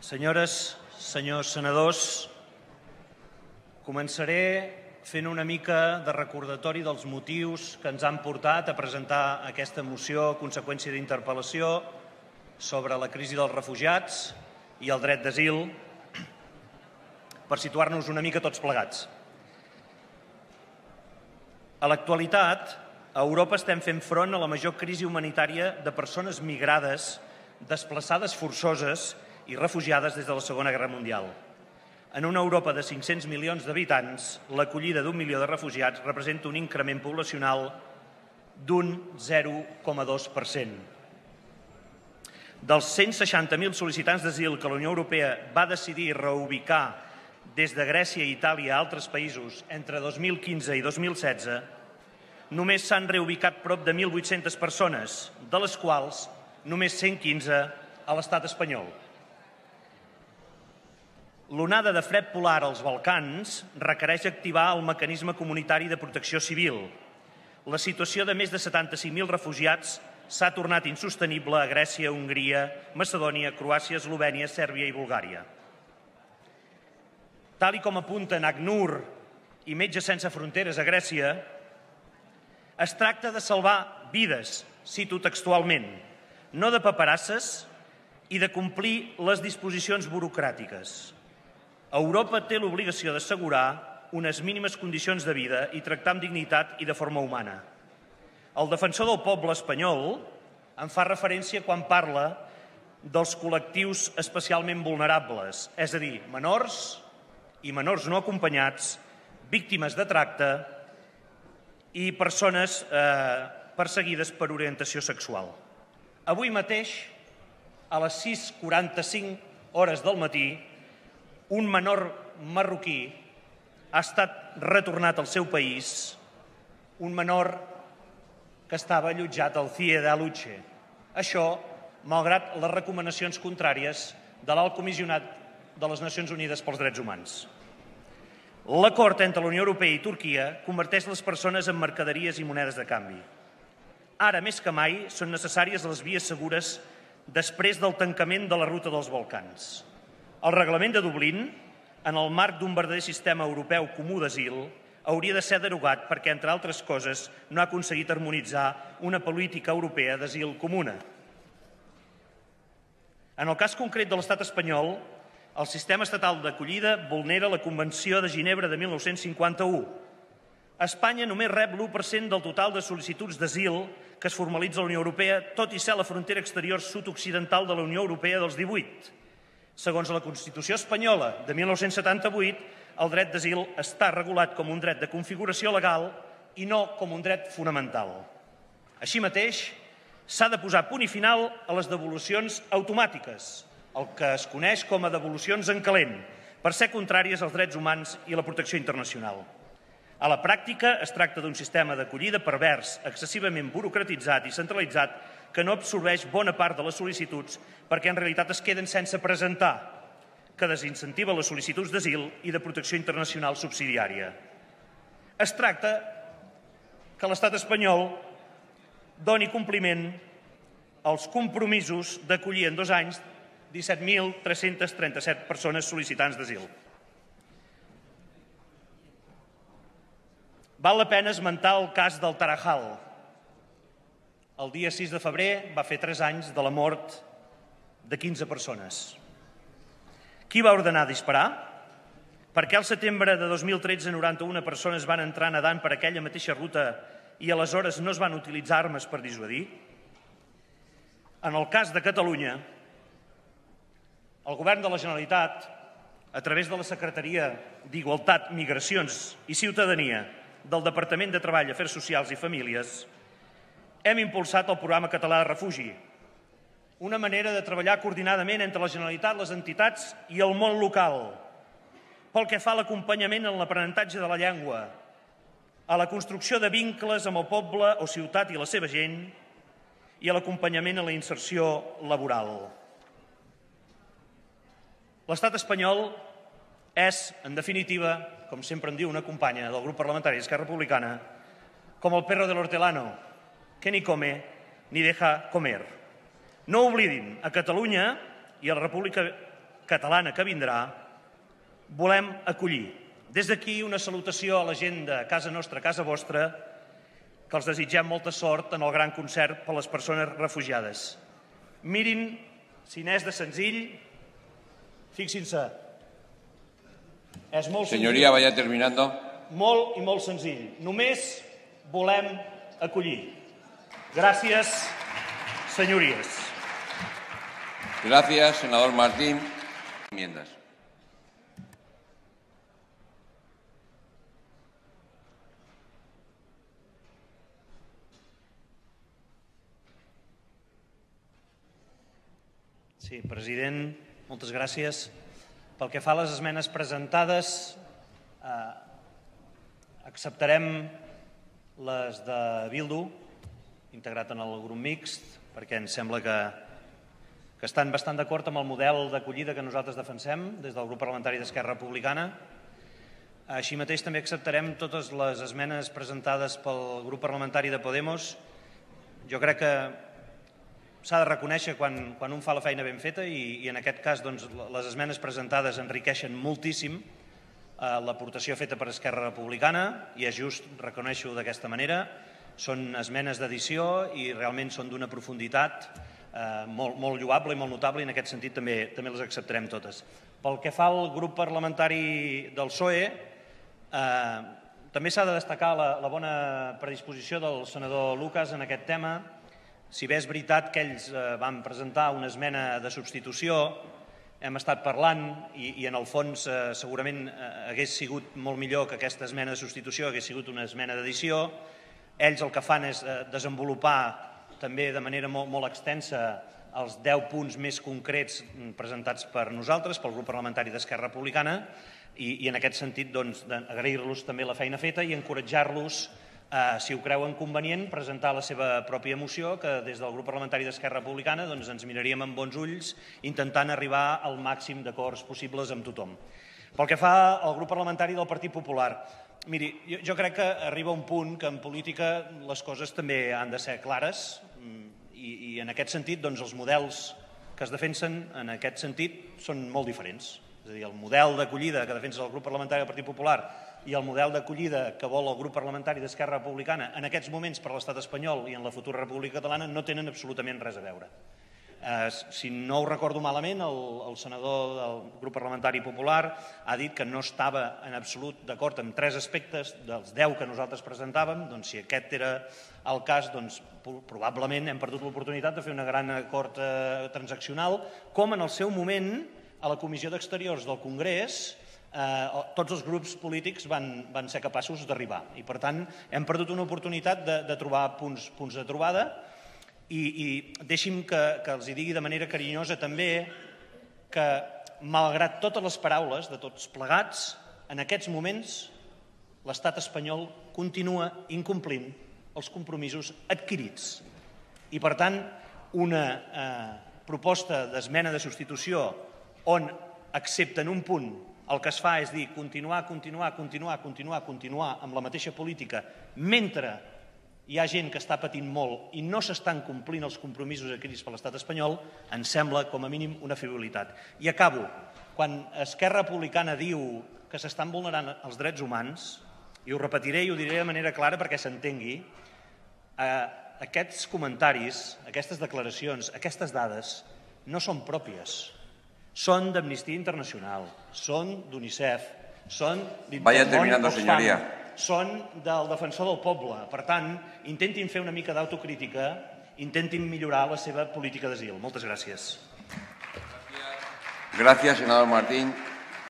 Senyores, senyors senadors, començaré fent una mica de recordatori dels motius que ens han portat a presentar aquesta moció a conseqüència d'interpel·lació sobre la crisi dels refugiats i el dret d'asil, per situar-nos una mica tots plegats. A l'actualitat, a Europa estem fent front a la major crisi humanitària de persones migrades, desplaçades forçoses i refugiades des de la Segona Guerra Mundial. En una Europa de 500 milions d'habitants, l'acollida d'1 milió de refugiats representa un increment poblacional d'un 0,2%. Dels 160.000 sol·licitants d'asil que la Unió Europea va decidir reubicar des de Grècia i Itàlia a altres països entre 2015 i 2016, només s'han reubicat prop de 1.800 persones, de les quals només 115 a l'estat espanyol. L'onada de fred polar als Balcans requereix activar el mecanisme comunitari de protecció civil. La situació de més de 75.000 refugiats s'ha tornat insostenible a Grècia, Hongria, Macedònia, Croàcia, Eslovènia, Sèrbia i Bulgària. Tal com apunten ACNUR i Metges Sense Fronteres a Grècia, es tracta de salvar vides, cito textualment, no de paperasses i de complir les disposicions burocràtiques. Europa té l'obligació d'assegurar unes mínimes condicions de vida i tractar amb dignitat i de forma humana. El defensor del poble espanyol en fa referència quan parla dels col·lectius especialment vulnerables, és a dir, menors i menors no acompanyats, víctimes de tracte i persones perseguides per orientació sexual. Avui mateix, a les 6:45 hores del matí, un menor marroquí ha estat retornat al seu país, un menor que estava allotjat al CIE d'Aluche. Això, malgrat les recomanacions contràries de l'Alt Comissionat de les Nacions Unides pels Drets Humans. L'acord entre la Unió Europea i Turquia converteix les persones en mercaderies i monedes de canvi. Ara, més que mai, són necessàries les vies segures després del tancament de la ruta dels Balcans. El reglament de Dublín, en el marc d'un verdader sistema europeu comú d'asil, hauria de ser derogat perquè, entre altres coses, no ha aconseguit harmonitzar una política europea d'asil comuna. En el cas concret de l'estat espanyol, el sistema estatal d'acollida vulnera la Convenció de Ginebra de 1951. Espanya només rep l'1% del total de sol·licituds d'asil que es formalitza a la Unió Europea, tot i ser la frontera exterior sud-occidental de la Unió Europea dels 18. Segons la Constitució espanyola de 1978, el dret d'asil està regulat com un dret de configuració legal i no com un dret fonamental. Així mateix, s'ha de posar punt i final a les devolucions automàtiques, el que es coneix com a devolucions en calent, per ser contràries als drets humans i la protecció internacional. A la pràctica, es tracta d'un sistema d'acollida pervers, excessivament burocratitzat i centralitzat, que no absorbeix bona part de les sol·licituds perquè en realitat es queden sense presentar, que desincentiva les sol·licituds d'asil i de protecció internacional subsidiària. Es tracta que l'estat espanyol doni compliment als compromisos d'acollir en 2 anys 17.337 persones sol·licitants d'asil. Val la pena esmentar el cas del Tarajal. El dia 6 de febrer va fer 3 anys de la mort de 15 persones. Qui va ordenar disparar? Per què al setembre de 2013 91 persones van entrar nedant per aquella mateixa ruta i aleshores no es van utilitzar armes per dissuadir? En el cas de Catalunya, el Govern de la Generalitat, a través de la Secretaria d'Igualtat, Migracions i Ciutadania del Departament de Treball, Afers Socials i Famílies, hem impulsat el programa català de refugi, una manera de treballar coordinadament entre la Generalitat, les entitats i el món local, pel que fa a l'acompanyament en l'aprenentatge de la llengua, a la construcció de vincles amb el poble o ciutat i la seva gent i a l'acompanyament en la inserció laboral. L'estat espanyol és, en definitiva, com sempre em diu una companya del grup parlamentari d'Esquerra Republicana, com el perro del hortelano, que ni come ni deja comer. No oblidin, a Catalunya i a la República catalana que vindrà, volem acollir. Des d'aquí una salutació a la gent de casa nostra, casa vostra, que els desitgem molta sort en el gran concert per a les persones refugiades. Mirin, si n'és de senzill, fixin-se, és molt senzill. Señoría, vaya terminando. Molt i molt senzill. Només volem acollir. Gràcies, señorías. Gracias, senador Martín. Enmiendas. Sí, president, moltes gràcies. Pel que fa a les esmenes presentades, acceptarem les de Bildu, integrat en el grup mixt, perquè ens sembla que estan bastant d'acord amb el model d'acollida que nosaltres defensem des del grup parlamentari d'Esquerra Republicana. Així mateix també acceptarem totes les esmenes presentades pel grup parlamentari de Podemos. Jo crec que s'ha de reconèixer quan un fa la feina ben feta i en aquest cas les esmenes presentades enriqueixen moltíssim l'aportació feta per Esquerra Republicana i és just reconèixer-ho d'aquesta manera. Són esmenes d'edició i realment són d'una profunditat molt lloable i molt notable i en aquest sentit també les acceptarem totes. Pel que fa al grup parlamentari del PSOE, també s'ha de destacar la bona predisposició del senador Lucas en aquest tema. Si bé és veritat que ells van presentar una esmena de substitució, hem estat parlant i en el fons segurament hagués sigut molt millor que aquesta esmena de substitució hagués sigut una esmena d'edició. Ells el que fan és desenvolupar també de manera molt extensa els 10 punts més concrets presentats per nosaltres, pel grup parlamentari d'Esquerra Republicana, i en aquest sentit agrair-los també la feina feta i encoratjar-los, si ho creuen convenient, presentar la seva pròpia moció, que des del grup parlamentari d'Esquerra Republicana ens miraríem amb bons ulls intentant arribar al màxim d'acords possibles amb tothom. Pel que fa al grup parlamentari del Partit Popular, miri, jo crec que arriba un punt que en política les coses també han de ser clares i en aquest sentit els models que es defensen en aquest sentit són molt diferents. És a dir, el model d'acollida que defensa el grup parlamentari del Partit Popular i el model d'acollida que vol el grup parlamentari d'Esquerra Republicana en aquests moments per l'estat espanyol i en la futura República Catalana no tenen absolutament res a veure. Si no ho recordo malament, el senador del grup parlamentari popular ha dit que no estava en absolut d'acord amb 3 aspectes dels 10 que nosaltres presentàvem. Doncs si aquest era el cas, probablement hem perdut l'oportunitat de fer un gran acord transaccional, com en el seu moment a la Comissió d'Exteriors del Congrés tots els grups polítics van ser capaços d'arribar. I per tant hem perdut una oportunitat de trobar punts de trobada i deixi'm que els digui de manera carinyosa també que malgrat totes les paraules de tots plegats, en aquests moments l'estat espanyol continua incomplint els compromisos adquirits. I per tant una proposta d'esmena de substitució on accepten un punt el que es fa és dir continuar amb la mateixa política mentre hi ha gent que està patint molt i no s'estan complint els compromisos adquirits per l'estat espanyol, ens sembla com a mínim una frivolitat. I acabo. Quan Esquerra Republicana diu que s'estan vulnerant els drets humans, i ho repetiré i ho diré de manera clara perquè s'entengui, aquests comentaris, aquestes declaracions, aquestes dades no són pròpies. Són d'Amnistia Internacional, són d'UNICEF, són d'Intermón Oxfam, són del Defensor del Poble. Per tant, intentin fer una mica d'autocrítica, intentin millorar la seva política d'asil. Moltes gràcies. Gràcies, senador Martín.